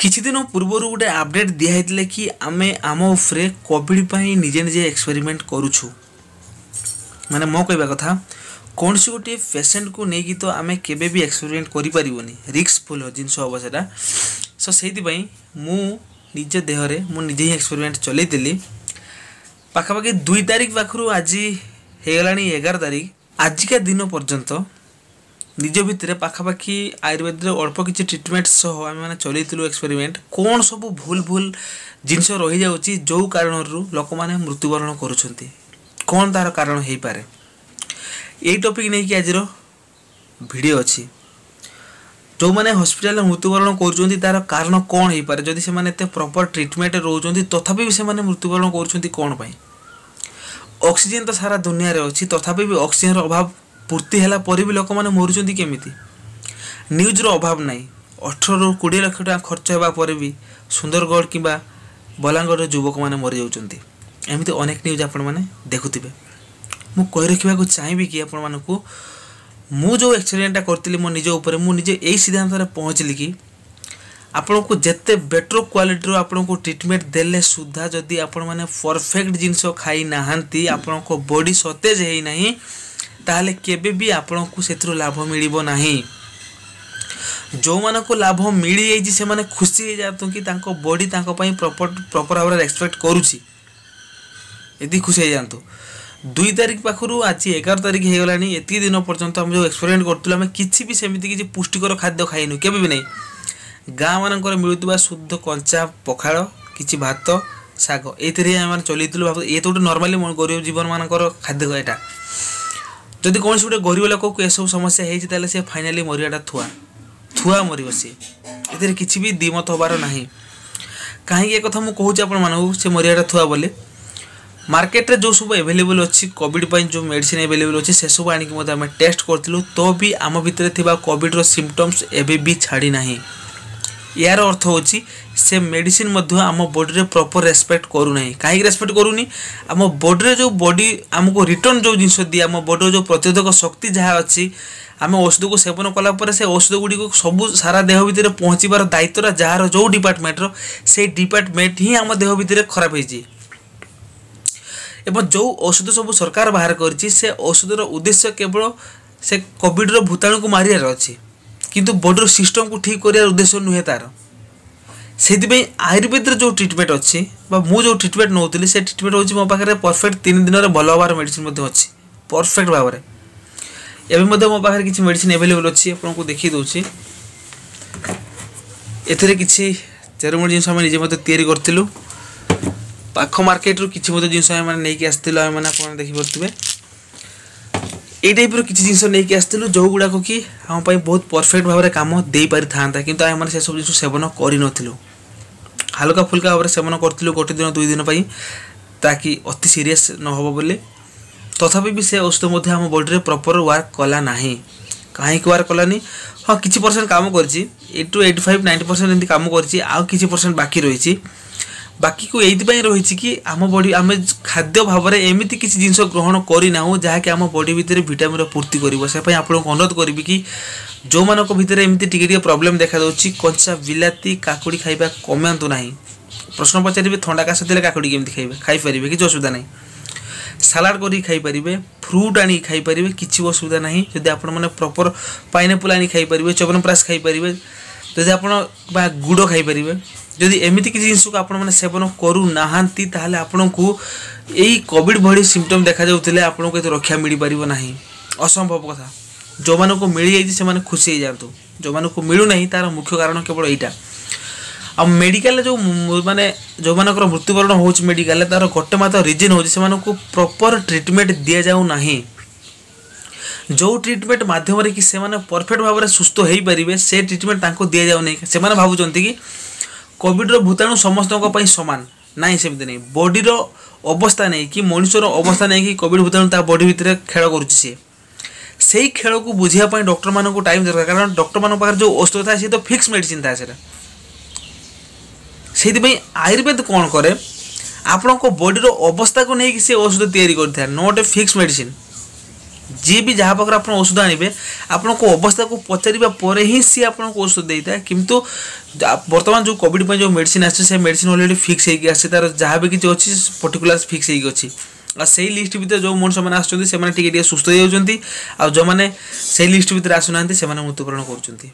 କିଛି ଦିନ ପୂର୍ବରୁ ଗୋଟେ ଅପଡ଼େଟ୍ ଦିଆହେଇଥିଲା କି ଆମେ ଆମ ଉପରେ କୋଭିଡ଼ ପାଇଁ ନିଜେ ନିଜେ ଏକ୍ସପେରିମେଣ୍ଟ କରୁଛୁ। ମାନେ ମୋ କହିବା କଥା, କୌଣସି ଗୋଟିଏ ପେସେଣ୍ଟକୁ ନେଇକି ତ ଆମେ କେବେ ବି ଏକ୍ସପେରିମେଣ୍ଟ କରିପାରିବୁନି, ରିସ୍କଫୁଲ୍ ଜିନିଷ ହେବ ସେଇଟା। ସୋ ସେଇଥିପାଇଁ ମୁଁ ନିଜ ଦେହରେ ମୁଁ ନିଜେ ହିଁ ଏକ୍ସପେରିମେଣ୍ଟ ଚଲେଇଥିଲି। ପାଖାପାଖି 2 ତାରିଖ ପାଖରୁ ଆଜି ହେଇଗଲାଣି 11 ତାରିଖ, ଆଜିକା ଦିନ ପର୍ଯ୍ୟନ୍ତ ନିଜ ଭିତରେ ପାଖାପାଖି ଆୟୁର୍ବେଦରେ ଅଳ୍ପ କିଛି ଟ୍ରିଟମେଣ୍ଟ ସହ ଆମେମାନେ ଚଲେଇଥିଲୁ ଏକ୍ସପେରିମେଣ୍ଟ। କ'ଣ ସବୁ ଭୁଲ ଭୁଲ ଜିନିଷ ରହିଯାଉଛି ଯେଉଁ କାରଣରୁ ଲୋକମାନେ ମୃତ୍ୟୁବରଣ କରୁଛନ୍ତି, କ'ଣ ତା'ର କାରଣ ହେଇପାରେ, ଏଇ ଟପିକ୍ ନେଇକି ଆଜିର ଭିଡ଼ିଓ ଅଛି। ଯେଉଁମାନେ ହସ୍ପିଟାଲରେ ମୃତ୍ୟୁବରଣ କରୁଛନ୍ତି ତା'ର କାରଣ କ'ଣ ହେଇପାରେ, ଯଦି ସେମାନେ ଏତେ ପ୍ରପର୍ ଟ୍ରିଟମେଣ୍ଟ ରହୁଛନ୍ତି ତଥାପି ବି ସେମାନେ ମୃତ୍ୟୁବରଣ କରୁଛନ୍ତି କ'ଣ ପାଇଁ? ଅକ୍ସିଜେନ୍ ତ ସାରା ଦୁନିଆରେ ଅଛି, ତଥାପି ବି ଅକ୍ସିଜେନ୍ର ଅଭାବ ପୂର୍ତ୍ତି ହେଲା ପରେ ବି ଲୋକମାନେ ମରୁଛନ୍ତି କେମିତି? ନ୍ୟୁଜ୍ର ଅଭାବ ନାହିଁ। 18ରୁ 20 ଲକ୍ଷ ଟଙ୍କା ଖର୍ଚ୍ଚ ହେବା ପରେ ବି ସୁନ୍ଦରଗଡ଼ କିମ୍ବା ବଲାଙ୍ଗୀରର ଯୁବକମାନେ ମରିଯାଉଛନ୍ତି। ଏମିତି ଅନେକ ନ୍ୟୁଜ୍ ଆପଣମାନେ ଦେଖୁଥିବେ। ମୁଁ କହି ରଖିବାକୁ ଚାହିଁବି କି ଆପଣମାନଙ୍କୁ, ମୁଁ ଯେଉଁ ଏକ୍ସପେରିମେଣ୍ଟଟା କରିଥିଲି ମୋ ନିଜ ଉପରେ, ମୁଁ ନିଜେ ଏଇ ସିଦ୍ଧାନ୍ତରେ ପହଞ୍ଚିଲି କି ଆପଣଙ୍କୁ ଯେତେ ବେଟର୍ କ୍ୱାଲିଟିର ଆପଣଙ୍କୁ ଟ୍ରିଟମେଣ୍ଟ ଦେଲେ ସୁଦ୍ଧା ଯଦି ଆପଣମାନେ ପରଫେକ୍ଟ ଜିନିଷ ଖାଇନାହାନ୍ତି, ଆପଣଙ୍କ ବଡ଼ି ସତେଜ ହେଇନାହିଁ, ତାହେଲେ କେବେ ବି ଆପଣଙ୍କୁ ସେଥିରୁ ଲାଭ ମିଳିବ ନାହିଁ। ଯେଉଁମାନଙ୍କୁ ଲାଭ ମିଳିଯାଇଛି ସେମାନେ ଖୁସି ହେଇଯାଆନ୍ତୁ କି ତାଙ୍କ ବଡ଼ି ତାଙ୍କ ପାଇଁ ପ୍ରପର୍ ଭାବରେ ରେସପେକ୍ଟ କରୁଛି, ଏତିକି ଖୁସି ହେଇଯାଆନ୍ତୁ। 2 ତାରିଖ ପାଖରୁ ଆଜି 11 ତାରିଖ ହେଇଗଲାଣି, ଏତିକି ଦିନ ପର୍ଯ୍ୟନ୍ତ ଆମେ ଯେଉଁ ଏକ୍ସପେରିମେଣ୍ଟ କରୁଥିଲୁ ଆମେ କିଛି ବି ସେମିତି କିଛି ପୁଷ୍ଟିକର ଖାଦ୍ୟ ଖାଇନୁ, କେବେ ବି ନାହିଁ। ଗାଁ ମାନଙ୍କରେ ମିଳୁଥିବା ଶୁଦ୍ଧ କଞ୍ଚା ପଖାଳ, କିଛି ଭାତ, ଶାଗ, ଏଇଥିରେ ହିଁ ଆମେ ଚଲେଇଥିଲୁ। ଭାବୁ ଇଏ ତ ଗୋଟେ ନର୍ମାଲି ଗରିବ ଜୀବନମାନଙ୍କର ଖାଦ୍ୟ ଏଇଟା। ଯଦି କୌଣସି ଗୋଟେ ଗରିବ ଲୋକକୁ ଏସବୁ ସମସ୍ୟା ହେଇଛି ତାହେଲେ ସେ ଫାଇନାଲି ମରିବାଟା ଥୁଆ ଥୁଆ ମରିବ ସିଏ, ଏଥିରେ କିଛି ବି ଦ୍ୱିମତ ହେବାର ନାହିଁ। କାହିଁକି ଏ କଥା ମୁଁ କହୁଛି ଆପଣମାନଙ୍କୁ, ସେ ମରିବାଟା ଥୁଆ ବୋଲି? ମାର୍କେଟରେ ଯେଉଁ ସବୁ ଆଭେଲେବୁଲ୍ ଅଛି କୋଭିଡ଼ ପାଇଁ, ଯେଉଁ ମେଡ଼ିସିନ୍ ଆଭେଲେବୁଲ୍ ଅଛି ସେସବୁ ଆଣିକି ମଧ୍ୟ ଆମେ ଟେଷ୍ଟ କରିଥିଲୁ, ତ ବି ଆମ ଭିତରେ ଥିବା କୋଭିଡ଼ର ସିମ୍ପଟମ୍ସ ଏବେ ବି ଛାଡ଼ି ନାହିଁ। ଏହାର ଅର୍ଥ ହେଉଛି ସେ ମେଡ଼ିସିନ୍ ମଧ୍ୟ ଆମ ବଡ଼ିରେ ପ୍ରପର୍ ରେସପେକ୍ଟ କରୁନାହିଁ। କାହିଁକି ରେସପେକ୍ଟ କରୁନି? ଆମ ବଡ଼ିରେ ଯେଉଁ ବଡ଼ି ଆମକୁ ରିଟର୍ଣ୍ଣ ଯେଉଁ ଜିନିଷ ଦିଏ, ଆମ ବଡ଼ିର ଯେଉଁ ପ୍ରତିରୋଧକ ଶକ୍ତି ଯାହା ଅଛି, ଆମେ ଔଷଧକୁ ସେବନ କଲା ପରେ ସେ ଔଷଧ ଗୁଡ଼ିକୁ ସବୁ ସାରା ଦେହ ଭିତରେ ପହଞ୍ଚିବାର ଦାୟିତ୍ୱଟା ଯାହାର ଯେଉଁ ଡିପାର୍ଟମେଣ୍ଟର, ସେଇ ଡିପାର୍ଟମେଣ୍ଟ ହିଁ ଆମ ଦେହ ଭିତରେ ଖରାପ ହେଇଛି। ଏବଂ ଯେଉଁ ଔଷଧ ସବୁ ସରକାର ବାହାର କରିଛି ସେ ଔଷଧର ଉଦ୍ଦେଶ୍ୟ କେବଳ ସେ କୋଭିଡ଼ର ଭୂତାଣୁକୁ ମାରିବାର ଅଛି, କିନ୍ତୁ ବଡ଼ିର ସିଷ୍ଟମକୁ ଠିକ୍ କରିବାର ଉଦ୍ଦେଶ୍ୟ ନୁହେଁ ତା'ର। ସେଇଥିପାଇଁ ଆୟୁର୍ବେଦରେ ଯେଉଁ ଟ୍ରିଟମେଣ୍ଟ ଅଛି ବା ମୁଁ ଯେଉଁ ଟ୍ରିଟମେଣ୍ଟ ନେଉଥିଲି ସେ ଟ୍ରିଟମେଣ୍ଟ ହେଉଛି ମୋ ପାଖରେ ପରଫେକ୍ଟ 3 ଦିନରେ ଭଲ ହେବାର ମେଡ଼ିସିନ୍ ମଧ୍ୟ ଅଛି ପରଫେକ୍ଟ ଭାବରେ। ଏବେ ମଧ୍ୟ ମୋ ପାଖରେ କିଛି ମେଡ଼ିସିନ୍ ଆଭେଲେବୁଲ୍ ଅଛି, ଆପଣଙ୍କୁ ଦେଖାଇ ଦେଉଛି। ଏଥିରେ କିଛି ଚେରମୂଳି ଜିନିଷ ଆମେ ନିଜେ ମଧ୍ୟ ତିଆରି କରିଥିଲୁ, ପାଖ ମାର୍କେଟରୁ କିଛି ମଧ୍ୟ ଜିନିଷ ଆମେ ନେଇକି ଆସିଥିଲୁ, ଆମେମାନେ ଆପଣ ଦେଖିପାରୁଥିବେ। ଏଇ ଟାଇପ୍ର କିଛି ଜିନିଷ ନେଇକି ଆସିଥିଲୁ ଯେଉଁଗୁଡ଼ାକ କି ଆମ ପାଇଁ ବହୁତ ପରଫେକ୍ଟ ଭାବରେ କାମ ଦେଇପାରିଥାନ୍ତା, କିନ୍ତୁ ଆମେମାନେ ସେସବୁ ଜିନିଷ ସେବନ କରିନଥିଲୁ। ହାଲୁକା ଫୁଲକା ଭାବରେ ସେବନ କରିଥିଲୁ ଗୋଟେ ଦିନ 2 ଦିନ ପାଇଁ, ତାକି ଅତି ସିରିୟସ୍ ନ ହେବ ବୋଲି। ତଥାପି ବି ସେ ଔଷଧ ମଧ୍ୟ ଆମ ବଡ଼ିରେ ପ୍ରପର୍ ୱାର୍କ କଲା ନାହିଁ। କାହିଁକି ୱାର୍କ କଲାନି? ହଁ, କିଛି ପରସେଣ୍ଟ କାମ କରିଛି, 8 to 85 90% ଏମିତି କାମ କରିଛି, ଆଉ କିଛି ପରସେଣ୍ଟ ବାକି ରହିଛି। ବାକିକୁ ଏଇଥିପାଇଁ ରହିଛି କି ଆମ ବଡ଼ି ଆମେ ଖାଦ୍ୟ ଭାବରେ ଏମିତି କିଛି ଜିନିଷ ଗ୍ରହଣ କରିନାହୁଁ ଯାହାକି ଆମ ବଡ଼ି ଭିତରେ ଭିଟାମିନ୍ର ପୂର୍ତ୍ତି କରିବ। ସେ ପାଇଁ ଆପଣଙ୍କୁ ଅନୁରୋଧ କରିବି କି ଯେଉଁମାନଙ୍କ ଭିତରେ ଏମିତି ଟିକେ ଟିକେ ପ୍ରୋବ୍ଲେମ୍ ଦେଖାଦେଉଛି, କଞ୍ଚା ବିଲାତି କାକୁଡ଼ି ଖାଇବା କମାନ୍ତୁ ନାହିଁ। ପ୍ରଶ୍ନ ପଚାରିବେ ଥଣ୍ଡା କାଶ ଥିଲେ କାକୁଡ଼ି କେମିତି ଖାଇବେ? ଖାଇପାରିବେ, କିଛି ଅସୁବିଧା ନାହିଁ। ସାଲାଡ଼ କରିକି ଖାଇପାରିବେ, ଫ୍ରୁଟ୍ ଆଣିକି ଖାଇପାରିବେ, କିଛି ଅସୁବିଧା ନାହିଁ। ଯଦି ଆପଣମାନେ ପ୍ରପର୍ ପାଇନାପଲ୍ ଆଣି ଖାଇପାରିବେ, ଚ୍ୟବନପ୍ରାଶ ଖାଇପାରିବେ, ଯଦି ଆପଣ ବା ଗୁଡ଼ ଖାଇପାରିବେ। ଯଦି ଏମିତି କିଛି ଜିନିଷକୁ ଆପଣମାନେ ସେବନ କରୁନାହାନ୍ତି ତାହେଲେ ଆପଣଙ୍କୁ ଏଇ କୋଭିଡ଼ ଭଳି ସିମ୍ପଟମ୍ ଦେଖାଯାଉଥିଲେ ଆପଣଙ୍କୁ ଏତେ ରକ୍ଷା ମିଳିପାରିବ ନାହିଁ, ଅସମ୍ଭବ କଥା। ଯେଉଁମାନଙ୍କୁ ମିଳିଯାଇଛି ସେମାନେ ଖୁସି ହେଇଯାଆନ୍ତୁ, ଯେଉଁମାନଙ୍କୁ ମିଳୁନାହିଁ ତା'ର ମୁଖ୍ୟ କାରଣ କେବଳ ଏଇଟା। ଆଉ ମେଡ଼ିକାଲରେ ଯେଉଁ ମାନେ ଯେଉଁମାନଙ୍କର ମୃତ୍ୟୁବରଣ ହେଉଛି ମେଡ଼ିକାଲରେ, ତା'ର ଗୋଟେ ମାତ୍ର ରିଜନ୍ ହେଉଛି ସେମାନଙ୍କୁ ପ୍ରପର୍ ଟ୍ରିଟମେଣ୍ଟ ଦିଆଯାଉ ନାହିଁ। ଯେଉଁ ଟ୍ରିଟମେଣ୍ଟ ମାଧ୍ୟମରେ କି ସେମାନେ ପରଫେକ୍ଟ ଭାବରେ ସୁସ୍ଥ ହେଇପାରିବେ ସେ ଟ୍ରିଟମେଣ୍ଟ ତାଙ୍କୁ ଦିଆଯାଉନାହିଁ। ସେମାନେ ଭାବୁଛନ୍ତି କି କୋଭିଡ଼ର ଭୂତାଣୁ ସମସ୍ତଙ୍କ ପାଇଁ ସମାନ। ନାହିଁ, ସେମିତି ନାହିଁ। ବଡ଼ିର ଅବସ୍ଥା ନେଇକି, ମଣିଷର ଅବସ୍ଥା ନେଇକି କୋଭିଡ଼ ଭୂତାଣୁ ତା ବଡ଼ି ଭିତରେ ଖେଳ କରୁଛି। ସିଏ ସେଇ ଖେଳକୁ ବୁଝିବା ପାଇଁ ଡକ୍ଟରମାନଙ୍କୁ ଟାଇମ୍ ଦରକାର, କାରଣ ଡକ୍ଟରମାନଙ୍କ ପାଖରେ ଯେଉଁ ଔଷଧ ଥାଏ ସେ ତ ଫିକ୍ସ ମେଡ଼ିସିନ୍ ଥାଏ ସେଇଟା। ସେଇଥିପାଇଁ ଆୟୁର୍ବେଦ କ'ଣ କରେ, ଆପଣଙ୍କ ବଡ଼ିର ଅବସ୍ଥାକୁ ନେଇକି ସେ ଔଷଧ ତିଆରି କରିଥାଏ, not a fix medicine. ଯିଏ ବି ଯାହା ପାଖରେ ଆପଣ ଔଷଧ ଆଣିବେ, ଆପଣଙ୍କ ଅବସ୍ଥାକୁ ପଚାରିବା ପରେ ହିଁ ସିଏ ଆପଣଙ୍କୁ ଔଷଧ ଦେଇଥାଏ। କିନ୍ତୁ ବର୍ତ୍ତମାନ ଯେଉଁ କୋଭିଡ଼ ପାଇଁ ଯେଉଁ ମେଡ଼ିସିନ ଆସିଛି, ସେ ମେଡ଼ିସିନ ଅଲରେଡ଼ି ଫିକ୍ସ ହେଇକି ଆସିଛି। ତାର ଯାହା ବି କିଛି ଅଛି, ପର୍ଟିକୁଲାର ଫିକ୍ସ ହେଇକି ଅଛି। ଆଉ ସେଇ ଲିଷ୍ଟ ଭିତରେ ଯେଉଁ ମଣିଷମାନେ ଆସୁଛନ୍ତି, ସେମାନେ ଟିକେ ଟିକେ ସୁସ୍ଥ ହେଇଯାଉଛନ୍ତି, ଆଉ ଯେଉଁମାନେ ସେଇ ଲିଷ୍ଟ ଭିତରେ ଆସୁନାହାନ୍ତି, ସେମାନେ ମୃତ୍ୟୁବରଣ କରୁଛନ୍ତି।